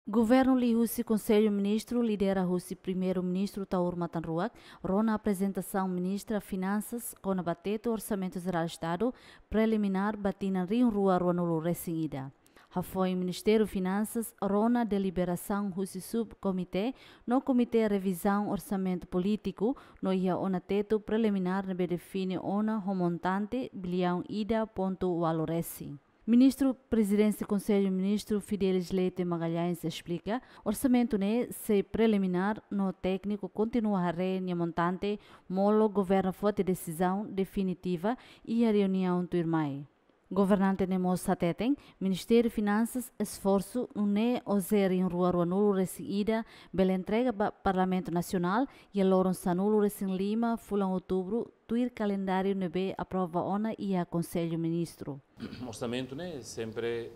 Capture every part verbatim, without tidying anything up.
Governu liuhusi Konsellu Ministru, lidera husi Primeiru-Ministru Taur Matan Ruak, rona aprezentasaun Ministra Finansas kona-ba tetu Orsamentu Jerál Estadu preliminár ba tinan rihun rua ruanulu resin ida. Hafoin Ministériu Finansas rona deliberasaun husi subkomité no komité revizaun orsamentu polítiku no iha ona tetu preliminár ne'ebé define ona ho montante biliaun ida pontu ualu resin. Ministru Prezidénsia Konsellu Ministru Fidelis Leite Magalhães esplika, orsamentu ne'e sei preliminár no tékniku kontinua haree nia montante molok governu foti desizaun definitiva iha reuniaun tuirmai. Governante ne'e mós hateten, Ministériu Finansas esforsu nune'e oin rihun rua ruanulu resin ida bele entrega ba Parlamentu Nasionál iha loron sanulu resin lima fulan Outubru tuir kalendáriu ne'ebé aprova ona iha Konsellu Ministru. Orsamentu ne'e sempre,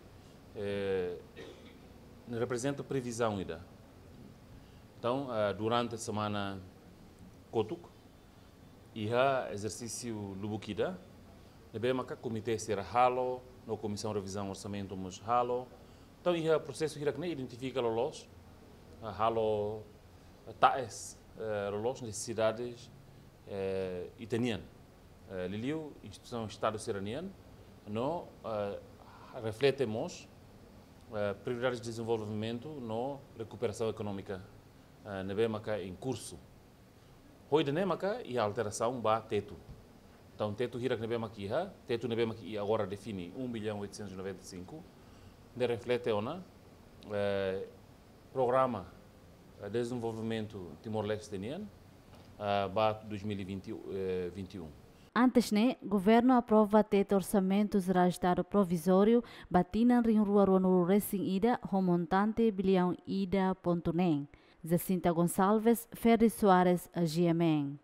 eh, ne'e reprezenta previzaun ida. Entaun, eh, durante semana kotuk, iha ezersísiu lubuk ida ne'ebé maka komité sira halo, no Komisaun Revizaun Orsamentu mós halo. Entaun, iha prosesu hirak ne'e identifika loloos, ah, halo, ah, ta'es, eh, loloos nesesidades, eh, ita-nian. Eh, liuliu instituisaun Estadu sira-nian, no, eh, reflete mós, eh, prioridades de dezenvolvimentu no rekuperasaun ekonómika, eh, ne'ebé maka em curso. Ho ida-ne'e maka iha alterasaun ba tetu. Entaun, tetu hirak ne'ebé maka iha, tetu ne'ebé maka iha agora define um bilhão oitocentos e noventa e cinco, ne'e reflete ona, eh, programa, eh, dezenvolvimentu Timor-Leste nian, ah, ba dois mil e vinte, eh, vinte e um. Antes ne'e, governu aprova tetu Orsamentu Jerál Estadu provizóriu ba tinan rihun rua ruanulu resin ida ho montante biliaun ida pontu neen. Jacinta Gonçalves, Ferdi Soares, G M N.